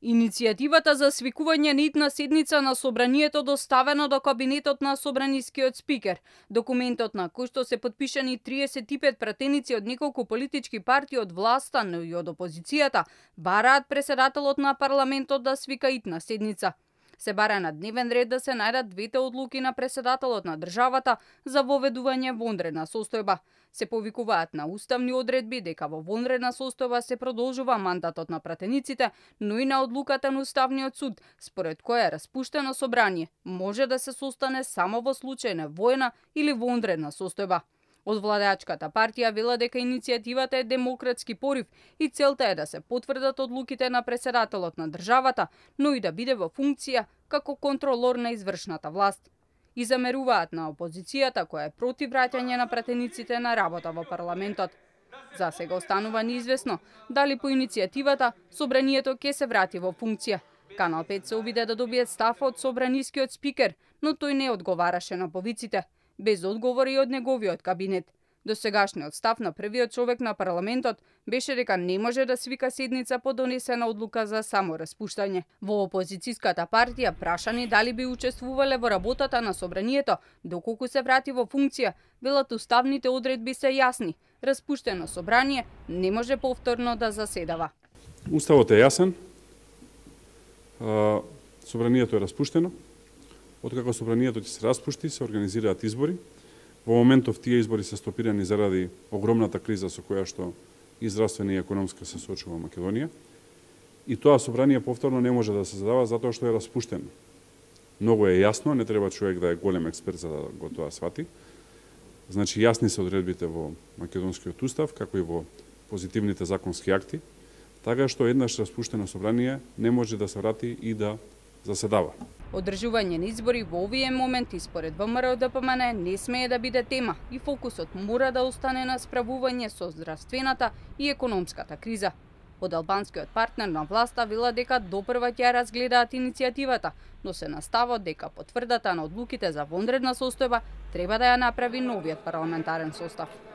Иницијативата за свикување на итна седница на собранието доставено до кабинетот на собранискиот спикер. Документот на кој што се подпишани 35 пратеници од неколку политички партии од власта, но и од опозицијата, бараат преседателот на парламентот да свика итна седница. Се бара на дневен ред да се најдат двете одлуки на преседателот на државата за воведување вонредна состојба. Се повикуваат на уставни одредби дека во вонредна состојба се продолжува мандатот на пратениците, но и на одлуката на Уставниот суд, според која распуштено собрание може да се состане само во случај на воена или вонредна состојба. Од владеачката партија вела дека иницијативата е демократски порив и целта е да се потврдат одлуките на преседателот на државата, но и да биде во функција како контролор на извршната власт. И замеруваат на опозицијата која е против враќање на пратениците на работа во парламентот. За сега останува неизвестно дали по иницијативата собранието ќе се врати во функција. Канал 5 се обиде да добие став од собранискиот спикер, но тој не одговараше на повиците, без одговори од неговиот кабинет. Досегашниот став на првиот човек на парламентот беше дека не може да свика седница по донесена одлука за само распуштање. Во опозицијската партија прашани дали би учествувале во работата на собранието доколку се врати во функција, велат уставните одредби се јасни. Распуштено собрание не може повторно да заседава. Уставот е јасен. Собранието е распуштено. Откако собранието ќе се распушти, се организираат избори. Во моментов тие избори се стопирани заради огромната криза со која што и здравствена и економска се соочува Македонија. И тоа собрание повторно не може да се задава затоа што е распуштено. Многу е јасно, не треба човек да е голем експерт за да го тоа свати. Значи јасни се одредбите во македонскиот устав, како и во позитивните законски акти, така што еднаш распуштено собрание не може да се врати и да заседава. Одржување на избори во овие моменти според ВМРО-ДПМН не смее да биде тема и фокусот мора да остане на справување со здравствената и економската криза. Од албанскиот партнер на власта вела дека допрва ќе разгледаат иницијативата, но се настават дека потврдата на одлуките за вонредна состојба треба да ја направи новиот парламентарен состав.